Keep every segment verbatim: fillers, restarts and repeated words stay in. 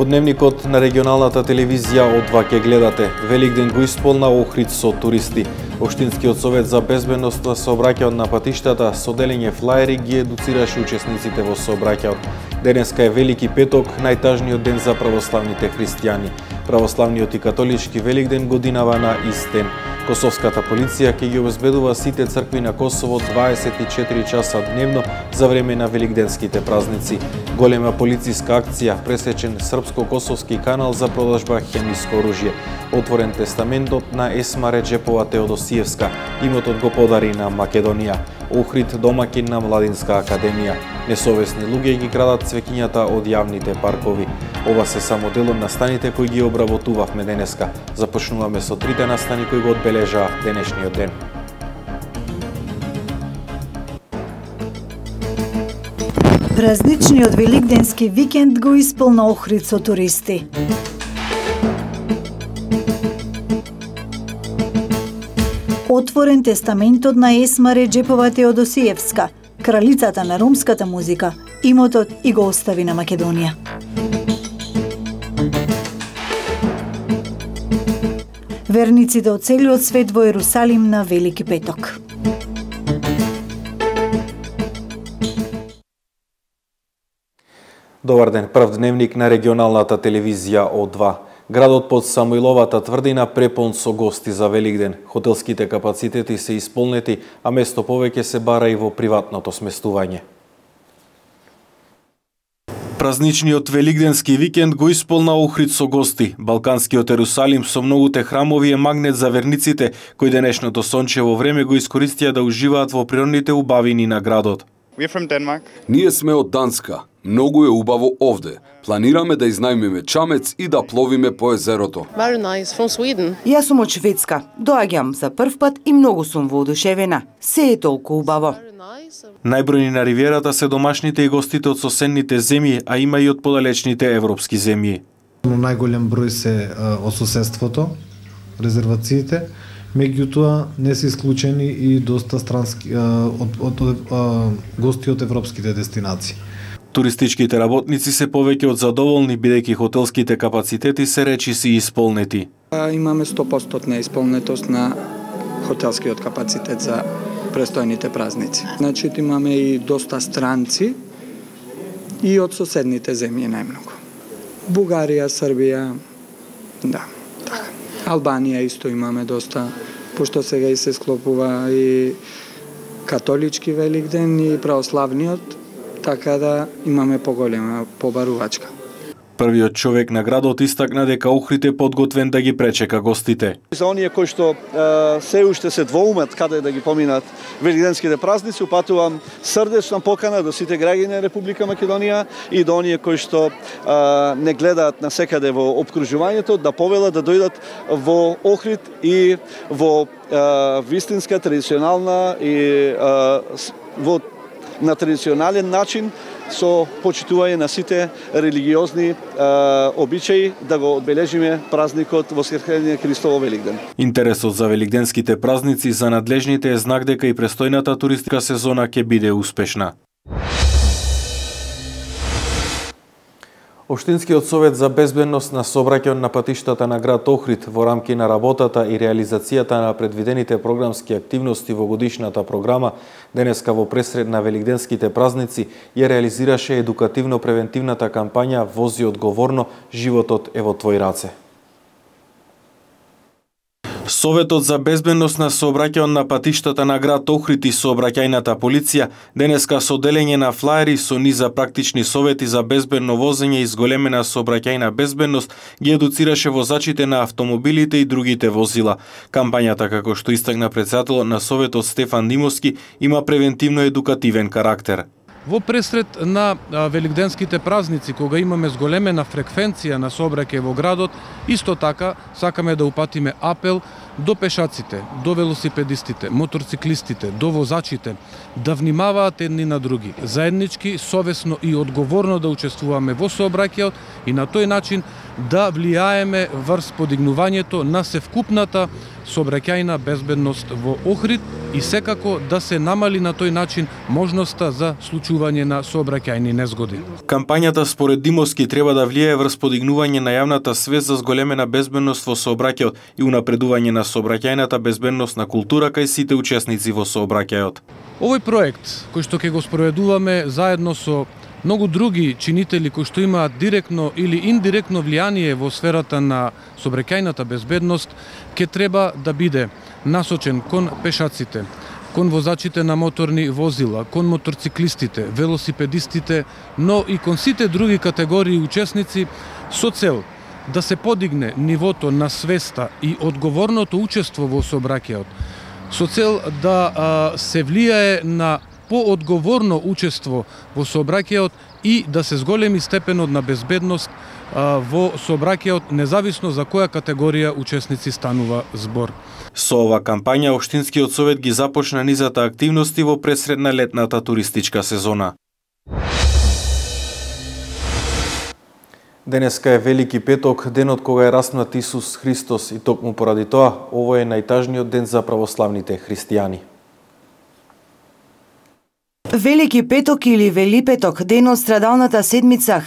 Во дневникот на регионалната телевизија од два ке гледате. Великден го исполна Охрид со туристи. Општинскиот совет за безбедност на сообраќајот на патиштата со делење флаери ги едуцираше учесниците во сообраќајот. Денеска е Велики петок, најтажниот ден за православните христијани. Православниот и католички Великден годинава на ист ден. Косовската полиција ќе ги обезбедува сите цркви на Косово дваесет и четири часа дневно за време на великденските празници. Голема полициска акција, пресечен српско-косовски канал за продажба хемиско оружје. Отворен тестаментот на Есма Реджепова Теодосиевска. Имотот го подари на Македонија. Охрид домакин на Младинска академија. Несовесни луѓе ги крадат цвеќињата од јавните паркови. Ова се само дел од настаните кои ги обработувавме денеска. Започнуваме со трите настани кои го одбележаа денешниот ден. Празничниот великденски викенд го исполна Охрид со туристи. Отворен тестаментот на Есма Реджепова Теодосиевска, кралицата на ромската музика, имотот и го остави на Македонија. Верниците од целиот свет во Ерусалим на Велики петок. Добар ден, прв дневник на регионалната телевизија О два. Градот под Самуиловата тврдина препон со гости за Великден. Хотелските капацитети се исполнети, а место повеќе се бара и во приватното сместување. Празничниот великденски викенд го исполна Охрид со гости. Балканскиот Ерусалим со многуте храмови е магнет за верниците, кои денешното сончево време го искористија да уживаат во природните убавини на градот. Ние сме од Данска. Многу е убаво овде. Планираме да изнајмиме чамец и да пловиме по езерото. Јас сум од Шведска. Доаѓам за прв пат и многу сум воодушевена. Се е толку убаво. Најбројни на ривиерата се домашните и гостите од соседните земји, а има и од подалечните европски земји. Најголем број се од соседството, резервациите. Меѓутоа не се исклучени и доста странски од, од, од, од гости од европските дестинации. Туристичките работници се повеќе од задоволни, бидејќи хотелските капацитети се речиси исполнети. Имаме сто проценти исполнетост на хотелскиот капацитет за престојните празници. Значи имаме и доста странци и од соседните земји најмногу. Бугарија, Србија, да, така. Албанија исто имаме доста, пошто сега и се склопува и католички Великден и православниот, така да имаме поголема побарувачка. Првиот човек на градот истакна дека Охрид е подготвен да ги пречека гостите. За оние кои што се уште се двоумат каде да ги поминат великденските празници, упатувам срдечна покана до сите граѓани на Република Македонија и до оние кои што а, не гледаат насекаде во обкружувањето да повелат да дојдат во Охрид и во а, вистинска традиционална и а, во на традиционален начин со почитување на сите религиозни а, обичаи да го одбележиме празникот Воскресение Христово Великден. Интересот за великденските празници за надлежните е знак дека и престојната туристичка сезона ќе биде успешна. Општинскиот совет за безбедност на сообраќајот на патиштата на град Охрид во рамки на работата и реализацијата на предвидените програмски активности во годишната програма денеска во пресред на великденските празници ја реализираше едукативно-превентивната кампања Вози одговорно, животот е во твои раце. Советот за безбедност на сообраќајот на патиштата на град Охрид и сообраќајната полиција денеска со делење на флаери со низа практични совети за безбедно возење и зголемена сообраќајна безбедност ги едуцираше возачите на автомобилите и другите возила. Кампањата, како што истакна претседателот на Советот Стефан Димовски, има превентивно-едукативен карактер. Во пресред на великденските празници, кога имаме зголемена фреквенција на сообраќај во градот, исто така сакаме да упатиме апел до пешаците, до велосипедистите, моторциклистите, до возачите да внимаваат едни на други, заеднички, совесно и одговорно да учествуваме во сообраќајот и на тој начин да влијаеме врз подигнувањето на севкупната сообраќајна безбедност во Охрид и секако да се намали на тој начин можноста за случување на сообраќајни незгоди. Кампањата според Димовски треба да влијае врз подигнување на јавната свест за зголемена безбедност во сообраќајот и унапредување на сообраќајната безбедност на култура кај сите учесници во сообраќајот. Овој проект кој што ќе го спроведуваме заедно со многу други чинители кои што имаат директно или индиректно влијание во сферата на сообраќајната безбедност, ќе треба да биде насочен кон пешаците, кон возачите на моторни возила, кон моторциклистите, велосипедистите, но и кон сите други категории учесници со цел да се подигне нивото на свеста и одговорното учество во сообраќајот, со цел да а, се влијае на поодговорно учество во сообраќајот и да се зголеми степенот на безбедност а, во сообраќајот, независно за која категорија учесници станува збор. Со ова кампања Општинскиот совет ги започна низата активности во пресредна летната туристичка сезона. Денеска е Велики петок, денот кога е распнат Исус Христос и токму поради тоа, овој е најтажниот ден за православните христијани. Велики петок или Велипеток, ден од страдалната седмица.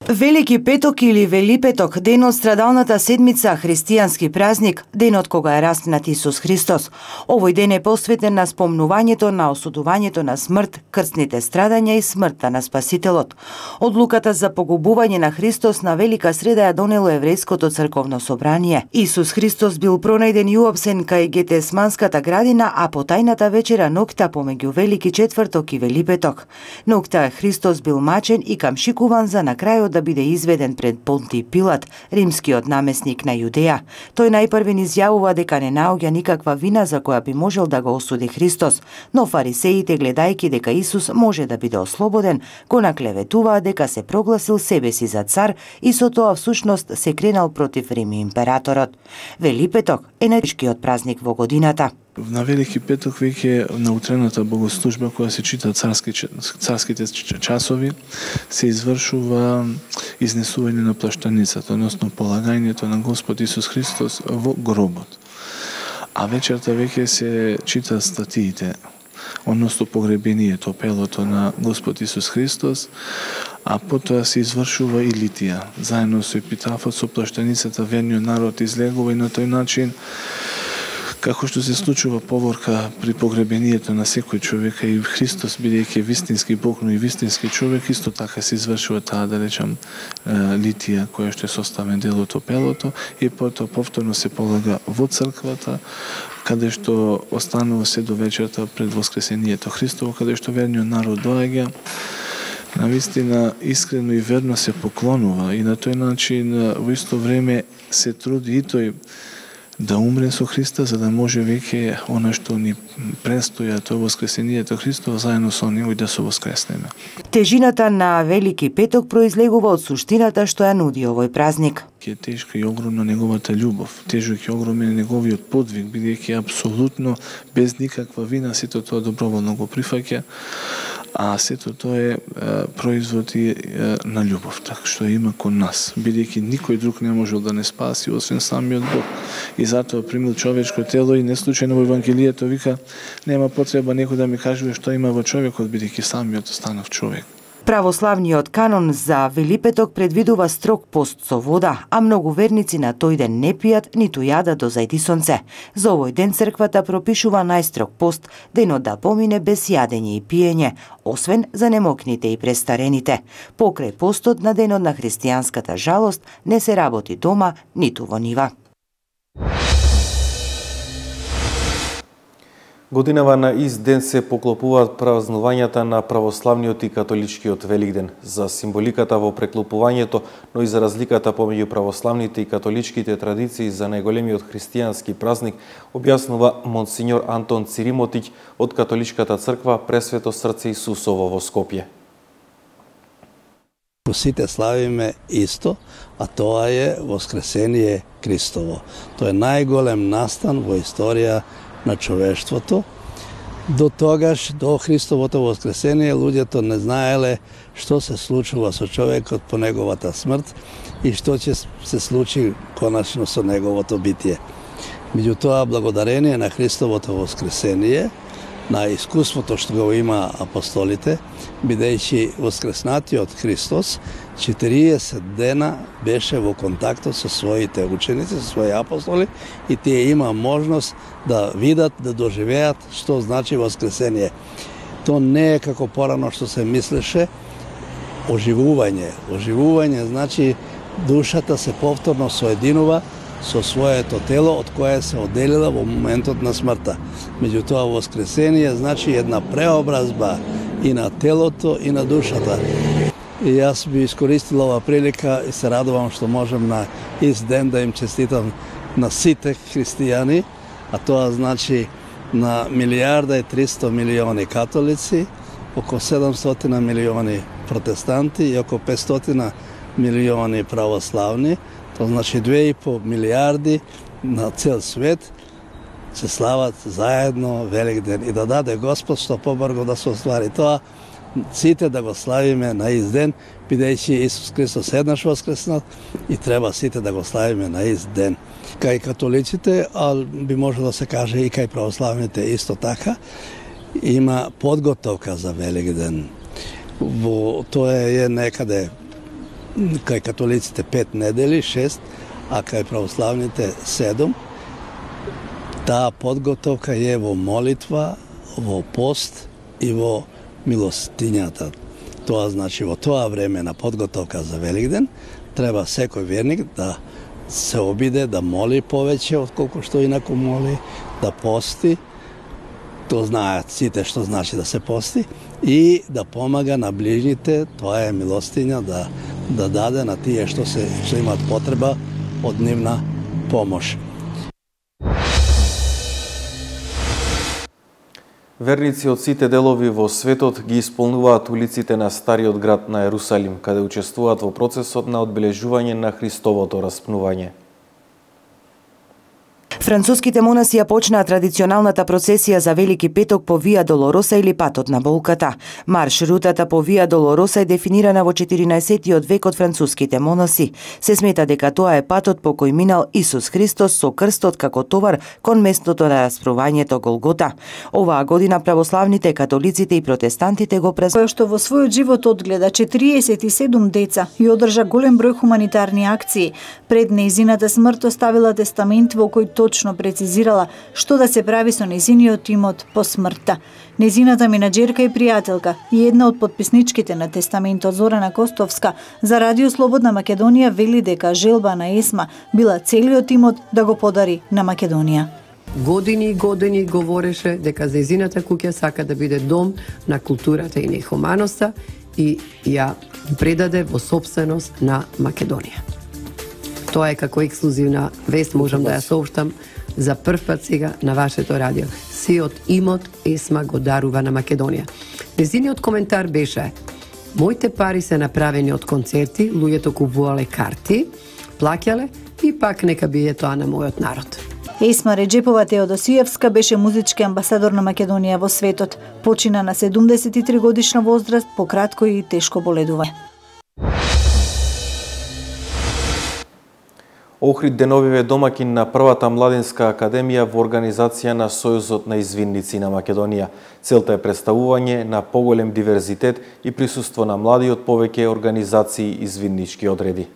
Велики петок или Велипеток, ден од страдалната седмица, христијански празник, денот кога е распнат Исус Христос. Овој ден е посветен на спомнувањето на осудувањето на смрт, крстните страдања и смртта на Спасителот. Одлуката за погубување на Христос на Велика среда ја донело еврејското црковно собрание. Исус Христос бил пронајден и уапсен кај Гетесманската градина, а по тајната вечера ноќта помеѓу Велики четврток и Велипеток. Ноќта Христос бил мачен и камшикуван за на крајот да биде изведен пред Понтиј Пилат, римскиот намесник на Јудеја. Тој најпрвен изјавува дека не наоѓа никаква вина за која би можел да го осуди Христос, но фарисеите, гледајќи дека Исус може да биде ослободен, го наклеветуваа дека се прогласил себе си за цар и со тоа всушност се кренал против Рим и императорот. Велипеток е најтешкиот празник во годината. На Велики петок веќе на утрената богослужба која се чита царски, царските часови, се извршува изнесување на плаштаницата, односно полагањето на Господ Исус Христос во гробот. А вечерта веќе се чита статиите, односно погребението, пелото на Господ Исус Христос, а потоа се извршува и литија. Заедно со епитафот, со плаштаницата, верниот народ излегува и на тој начин, како што се случува поворка при погребението на секој човек, и Христос, бидејќи вистински Бог, но и вистински човек, исто така се извршува таа, да речам, литија, која што е составен дел од пелото, и потоа повторно се полага во црквата, каде што останува се до вечерта пред Воскресението Христово, каде што верниот народ доаѓа, навистина искрено и верно се поклонува и на тој начин во исто време се труди и тој да умре со Христа, за да може веќе она што ни престоја, тоа Воскресението Христово, заедно со него и да се воскреснеме. Тежината на Велики петок произлегува од суштината што ја нуди овој празник. Е тешка и огромна неговата љубов, тежок и огромен е неговиот подвиг, бидејќи апсолутно без никаква вина сето тоа доброволно го прифаќа, а сето тоа е, е производ и е, на љубовта што има кон нас, бидејќи никој друг не можел да не спаси освен самиот Бог. И затоа примил човечко тело и не случајно во Евангелието вика нема потреба некој да ми кажува што има во човекот, бидејќи самиот станав човек. Православниот канон за Велипеток предвидува строг пост со вода, а многу верници на тој ден не пијат ниту јадат до зајди сонце. За овој ден црквата пропишува најстрог пост, денот да помине без јадење и пиење, освен за немокните и престарените. Покрај постот на денот на христијанската жалост не се работи дома, ниту во нива. Годинава на ист ден се поклопуваат празнувањата на православниот и католичкиот Великден. За символиката во преклопувањето, но и за разликата помеѓу православните и католичките традиции за најголемиот христијански празник, објаснува монсиньор Антон Циримотиќ од Католичката црква Пресвето срце Исусово во Скопје. Сите славиме исто, а тоа е Воскресение Христово. Тоа е најголем настан во историја на човештвото. До тогаш, до Христовото Воскресение, луѓето не знаеле што се случува со човекот по неговата смрт и што ќе се случи конечно со неговото битие. Меѓутоа, благодарение на Христовото Воскресение, на искуството што го има апостолите, бидејќи воскреснатиот Христос четириесет дена беше во контактот со своите ученици, со своји апостоли, и тие има можност да видат, да доживеат што значи воскресение. То не е како порано што се мислеше оживување. Оживување значи душата се повторно соединува со своето тело од кое се одделила во моментот на смртта. Меѓутоа, воскресение значи една преобразба и на телото и на душата. И јас би искористил ова прилика и се радувам што можем на ист ден да им честитам на сите христијани, а тоа значи на милијарда и триста милиони католици, околу седумстотини милиони протестанти и околу петстотини милиони православни. Тоа значи две и по милијарди на цел свет се слават заедно Великден и да даде Господ што побрзо да се оствари тоа, сите да го славиме на ист ден, бидејќи Исус Христос еднаш воскреснал и треба сите да го славиме на ист ден. Кај католиците, а би можело да се каже и кај православните исто така, има подготовка за Великден. Во тоа е некаде кај католиците пет недели, шест, а кај православните седум. Таа подготовка е во молитва, во пост и во милостињата. Тоа значи во тоа време на подготовка за Великден треба секој верник да се обиде да моли повеќе отколку што инаку моли, да пости. Тоа знаат сите што значи да се пости и да помага на ближните, тоа е милостиња, да да даде на тие што се што имаат потреба од нивна помош. Верници од сите делови во светот ги исполнуваат улиците на стариот град на Ерусалим, каде учествуваат во процесот на одбележување на Христовото распнување. Француските монаси ја почнаа традиционалната процесија за Велики петок по Вија Долороса или патот на болката. Марш-рутата по Вија Долороса е дефинирана во четиринаесеттиот век од француските монаси. Се смета дека тоа е патот по кој минал Исус Христос со крстот како товар кон местото на распрувањето Голгота. Оваа година православните, католиците и протестантите го празнуваа. Кој што во својот живот одгледа четириесет и седум деца и одржа голем број хуманитарни акции, пред нејзината смрт оставила тестамент во кој точно прецизирала што да се прави со нејзиниот имот по смртта. Нејзината менаџерка и пријателка и една од потписничките на тестаментот Зорана Костовска за Радио Слободна Македонија вели дека желба на Есма била целиот имот да го подари на Македонија. Години и години говореше дека нејзината куќа сака да биде дом на културата и на хуманоста и ја предаде во сопственост на Македонија. Тоа е како ексклузивна вест, можам да ја сообштам за прв пат сега на вашето радио. Сиот имот Есма го дарува на Македонија. Незиниот коментар беше: моите пари се направени од концерти, луѓето купувале карти, плаќале и пак нека биде тоа на мојот народ. Есма Реджепова Теодосиевска беше музички амбасадор на Македонија во светот. Почина на седумдесет и три годишна возраст по кратко и тешко боледување. Охрид деновиве домакин на првата младинска академија во организација на Сојузот на извинници на Македонија. Целта е представување на поголем диверзитет и присуство на млади од повеќе организации извиннички одреди.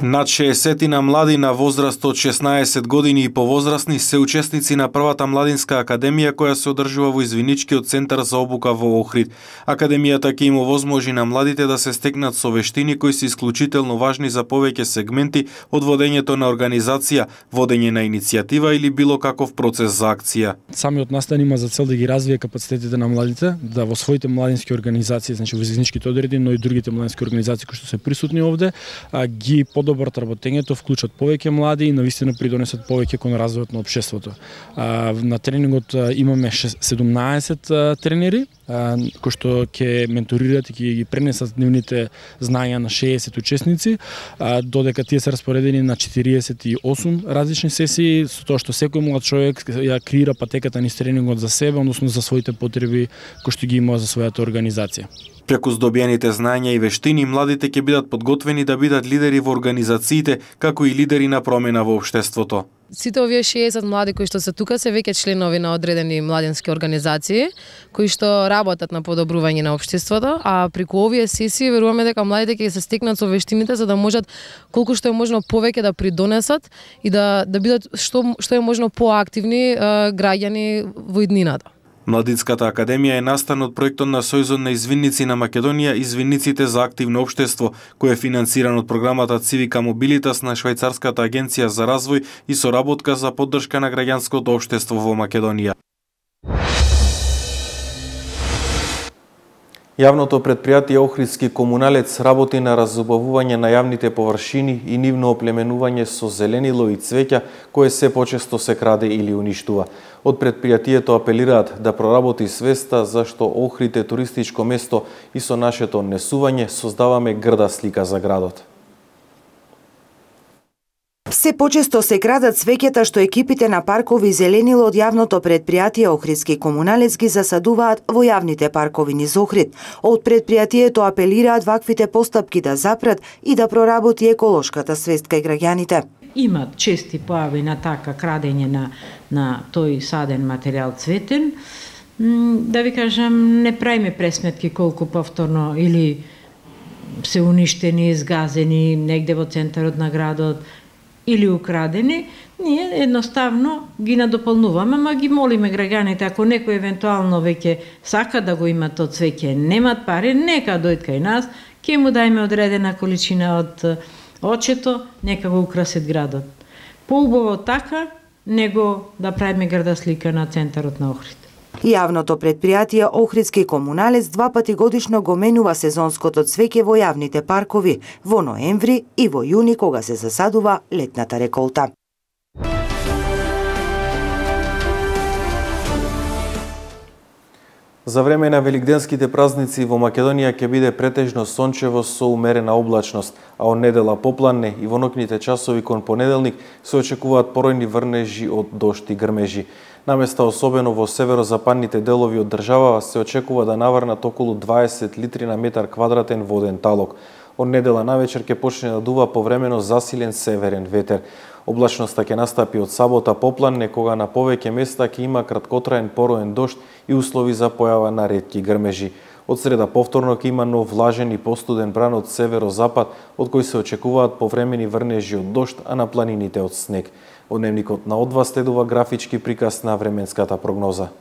Над шеесетина млади на возраст од шеснаесет години и повозрастни се учесници на првата младинска академија која се одржува во извиничкиот центар за обука во Охрид. Академијата ќе им овозможи на младите да се стекнат со вештини кои се исклучително важни за повеќе сегменти од водењето на организација, водење на иницијатива или било каков процес за акција. Самиот настан има за цел да ги развие капацитетите на младите, да во своите младински организации, значи во извиничките одреди, но и другите младински организации кои што се присутни овде, ги подобрат подобар работењето, вклучат повеќе млади и навистина придонесат повеќе кон развојот на општеството. На тренингот имаме седумнаесет тренери кои што ќе менторираат и ќе ги пренесат нивните знања на шеесет учесници, додека тие се распоредени на четириесет и осум различни сесии, со тоа што секој млад човек ја креира патеката низ тренингот за себе, односно за своите потреби кои што ги има за својата организација. Преку здобиените знања и вештини, младите ќе бидат подготвени да бидат лидери во организациите, како и лидери на промена во општеството. Сите овие шеесет млади кои што се тука се веќе членови на одредени младински организации, кои што работат на подобрување на општеството, а преку овие сесии веруваме дека младите ќе се стекнат со вештините за да можат колку што е можно повеќе да придонесат и да да бидат што што е можно поактивни граѓани во иднината. Младинската академија е настан од проектот на Сојузот на извинници на Македонија Извинниците за активно општество, кој е финансиран од програмата Civica Mobilitas на Швајцарската агенција за развој и соработка за поддршка на граѓанското општество во Македонија. Јавното претпријатие Охридски комуналец работи на разубавување на јавните површини и нивно оплеменување со зеленило и цвеќа, кое се почесто се краде или уништува. Од претпријатието апелираат да проработи свеста зашто Охрид е туристичко место и со нашето однесување создаваме грда слика за градот. Се почесто се крадат цвеќата што екипите на паркови зеленило од јавното претпријатие Охридски комуналец ги засадуваат во јавните паркови низ Охрид. Од претпријатието апелираат ваквите постапки да запрат и да проработи еколошката свест кај граѓаните. Има чести појави на така крадење на, на тој саден материјал цветен. Да ви кажам, не правиме пресметки колку повторно или се уништени, изгазени негде во центарот на градот, или украдени, ние едноставно ги надополнуваме, ама ги молиме граѓаните, ако некој евентуално веќе сака да го има тоа цвеќе, немат пари, нека дојдат кај нас, ќе му дајме одредена количина од очето, нека го украсат градот. Поубаво така, него да правиме грда слика на центарот на Охрид. Јавното претпријатие Охридски комуналец два пати годишно го менува сезонското цвеќе во јавните паркови, во ноември и во јуни кога се засадува летната реколта. За време на великденските празници во Македонија ќе биде претежно сончево со умерена облачност, а од недела попладне и во ноќните часови кон понеделник се очекуваат поројни врнежи од дожд и грмежи. Наместа особено во северозападните делови од држава се очекува да наврнат околу дваесет литри на метар квадратен воден талок. Од недела навечер ќе почне да дува повремено засилен северен ветер. Облачноста ќе настапи од сабота попладне, кога на повеќе места ќе има краткотраен пороен дожд и услови за појава на ретки грмежи. Од среда повторно ќе има нов влажен и постуден бран од северозапад, од кој се очекуваат повремени врнежи од дожд, а на планините од снег. Од дневникот на Одва следува графички приказ на временската прогноза.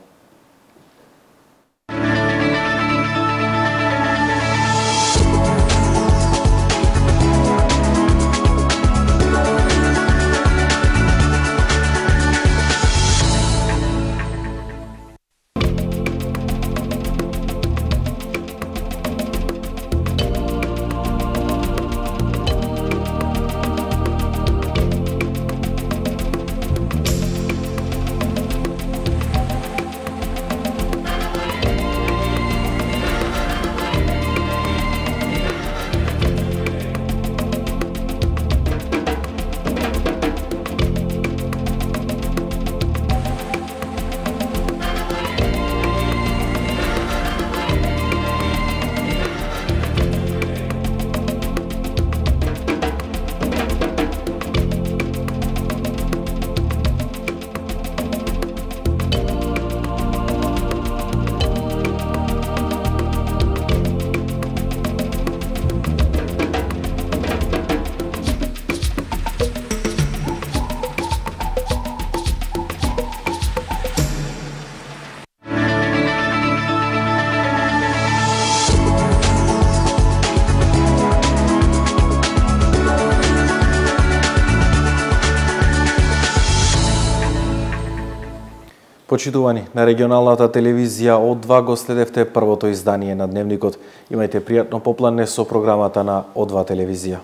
Почитувани, на регионалната телевизија Од два го следевте првото издание на Дневникот. Имајте пријатно попладне со програмата на Од два телевизија.